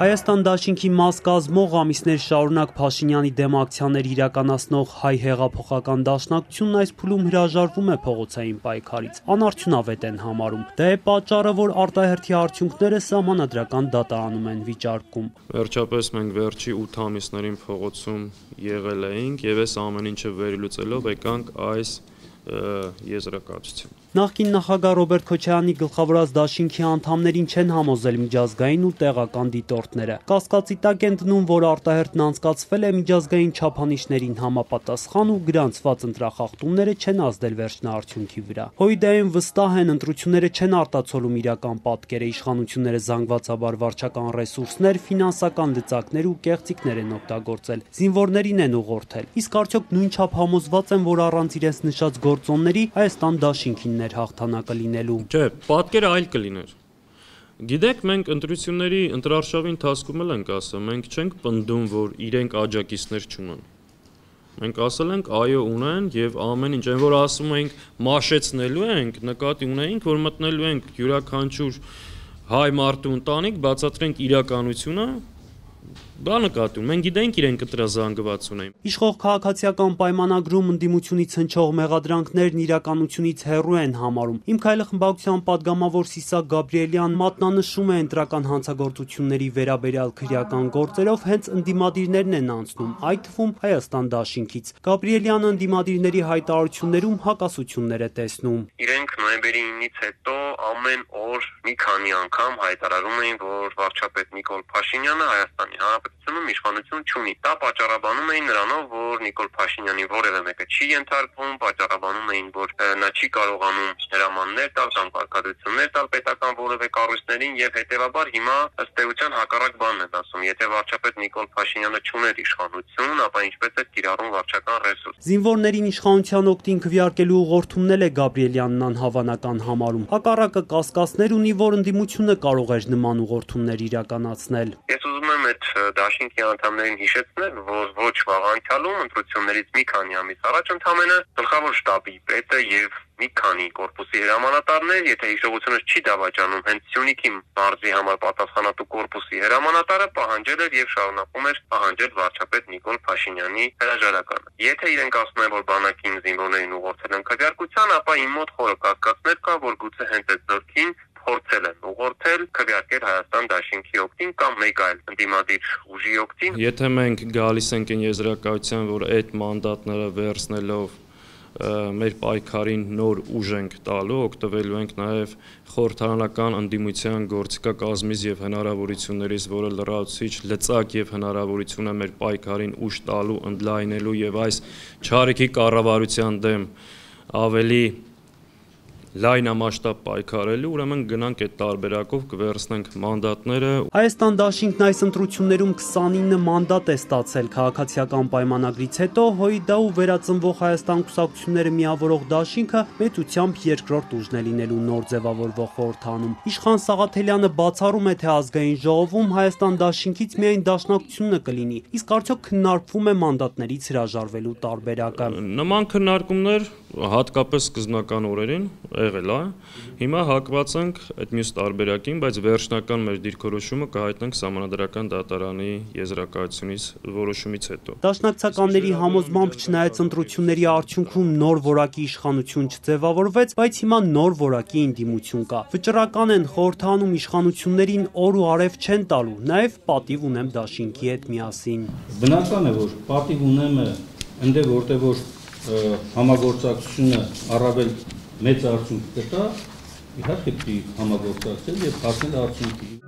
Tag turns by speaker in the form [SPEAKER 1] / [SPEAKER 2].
[SPEAKER 1] Հայաստան դաշինքի մաս կազմող ամիսներ շարունակ Փաշինյանի դեմ ակցիաներ իրականացնող հայ հեղափոխական դաշնակցությունն այս փուլում հրաժարվում է փողոցային պայքարից, անարդյունավետ են համարում։ Դա է պատճառը, որ արտահերթի արդյունքները սահմանադրական դատարանում են վիճարկում։
[SPEAKER 2] Վերջապես մենք վերջի 8 ամիսներին փողոցում եղել էինք եւ այս ամեն ինչը վերլուծելով եկանք այս եզրակացություն։
[SPEAKER 1] Նախկին նախագահ Ռոբերտ Քոչարյանի գլխավորած դաշինքի անդամներին չեն համոզել միջազգային ու տեղական դիտորդները։ Կասկածի տակ են դնում, որ արտահերթն անցկացվել է միջազգային չափանիշներին համապատասխան ու գրանցված ընտրախախտումները չեն ազդել վերջնաարդյունքի վրա։ Հույդայում վստահ են, ընտրությունները չեն արտացոլում իրական պատկերը, իշխանությունները զանգվածաբար վարչական ռեսուրսներ, ֆինանսական լծակներ ու կեղծիքներ են օգտագործել, զինվորներին են ուղղորդել։ Իսկ արդյոք նույնչափ համոզված են, որ առանց իրենց նշած գործոնների Հայաստան դաշինքին հաղթանակը լինելու։
[SPEAKER 2] Չէ, պատկերը այլ կլիներ։ Գիտեք, մենք ընտրությունների ընտրարշավի ընթացքում էլ ենք ասել, մենք չենք պնդում, որ իրենք աջակիցներ չունեն։ Մենք ասել ենք այո ունեն եւ ամեն ինչ, այն որ ասում ենք մաշեցնելու ենք, նկատի ունենք, որ մտնելու ենք յուրաքանչյուր հայ մարդու ընտանիք, բացատրենք իրականությունը։ Դա նկատում, մենք գիտենք իրենք ընտրազանգված ունեն։
[SPEAKER 1] Իշխող քաղաքացիական պայմանագրում ընդդիմությունից հնչող մեղադրանքներն իրականությունից հեռու են համարում։ Իմ քայլը խմբակցության падգամավոր Սիսակ Գաբրիելյան մատնանշում է ընտրական հանցագործությունների վերաբերյալ քրեական գործերով հենց ընդդիմադիրներն են անցնում, այդ թվում Հայաստան դաշինքից։ Գաբրիելյանը ընդդիմադիրների հայտարարություններում հակասություններ է տեսնում։
[SPEAKER 3] Իրենք նոյեմբերի 9-ից հետո ամեն օր մի քանի անգամ հայտարարում էին, որ վարչապետ Նիկոլ Փաշինյանը Հայաստանի Հանրապետությունում իշխանություն չունի։ Դա պատճառաբանում էին նրանով, որ Նիկոլ Փաշինյանի որևէ մեկը չի ենթարկվում, պատճառաբանում էին, որ նա չի կարողանում հրամաններ տալ կամ կարգադրություններ տալ պետական որևէ կառույցներին եւ հետեւաբար հիմա ըստ էության հակառակ բանն են ասում։ Եթե վարչապետ Նիկոլ Փաշինյանը չուներ իշխանություն, ապա ինչպես է կիրառում վարչական ռեսուրս։
[SPEAKER 1] Զինվորներին իշխանության օգտին քվեարկելու ուղղորդումն է Գաբրիելյանն անհավանական համարում։ Հակառակը կասկածներ ունի, որ ընդդիմությունը կարող էր նման ուղղորդումներ իրականացնել։
[SPEAKER 3] Ես ուզում եմ այդ դաշինքի անդամներին հիշեցնել, որ ոչ վաղ անցյալում ընտրություններից մի քանի ամիս առաջ ընդամենը գլխավոր շտաբի պետը եւ մի քանի կորպուսի հրամանատարներ, եթե հիշողությունս չի դավաճանում, հենց Սյունիքի մարզի համար պատասխանատու կորպուսի հրամանատարը պահանջել էր եւ շարունակում էր պահանջել վարչապետ Նիկոլ Փաշինյանի հրաժարականը։ Եթե իրենք ասում են, որ բանակին զինվորներին ուղղորդել են քվեարկության, ապա իմ մոտ խորը կասկածներ կա, որ գուցե հենց այդ ձեռքին փորձել են ուղղորդել քվեարկել Հայաստան դաշինքի օգտին կամ մեկ այլ ընդդիմադիր ուժի օգտին։
[SPEAKER 2] Եթե մենք գալիս ենք այն եզրակացության, որ այդ մանդատները վերցնելով մեր պայքարին նոր ուժ ենք տալու, օգտվելու ենք նաև խորհրդարանական ընդդիմության գործիքակազմից եւ հնարավորություններից, որը լրացուցիչ լծակ եւ հնարավորություն է մեր պայքարին ուժ տալու, ընդլայնելու եւ այս չարիքի կառավարության դեմ ավելի լայնամասշտաբ պայքարելու, ուրեմն գնանք այդ տարբերակով կվերցնենք մանդատները։
[SPEAKER 1] Հայաստան դաշինքն այս ընտրություններում 29 մանդատ է ստացել քաղաքացիական պայմանագրից հետո, ՀՅԴ-ու վերածնվող Հայաստան կուսակցությունները միավորող դաշինքը մեծությամբ երկրորդ ուժն է լինելու նոր ձևավորվող խորհրդանում։ Իշխան Սաղաթելյանը բացառում է, թե ազգային ժողովում Հայաստան դաշինքից միայն դաշնակցությունը կլինի, իսկ արդյոք քննարկվում է մանդատներից հրաժարվելու տարբերակը։
[SPEAKER 2] Նման քննարկումներ հատկապես սկզբնական օրերին եղել է։ Հիմա հակված ենք այդ մյուս տարբերակին, բայց վերջնական մեր դիրքորոշումը կհայտնենք Սահմանադրական դատարանի եզրակացությունից որոշումից հետո։
[SPEAKER 1] Դաշնակցականների համոզմամբ չնայած ընտրությունների արդյունքում նոր որակի իշխանություն չձևավորվեց, բայց հիմա նոր որակի ընդդիմություն կա։ Վճռական են խորհրդանում իշխանություններին օր ու արև չեն տալու, նաև պատիվ ունեմ դաշինքի հետ միասին։
[SPEAKER 4] Բնական է, որ պատիվ ունեմ ընդ որտեղ որ համագործակցությունը առավել մեծ արդյունք կտա, իհարկե պիտի համագործակցել եւ հասնել արդյունքի։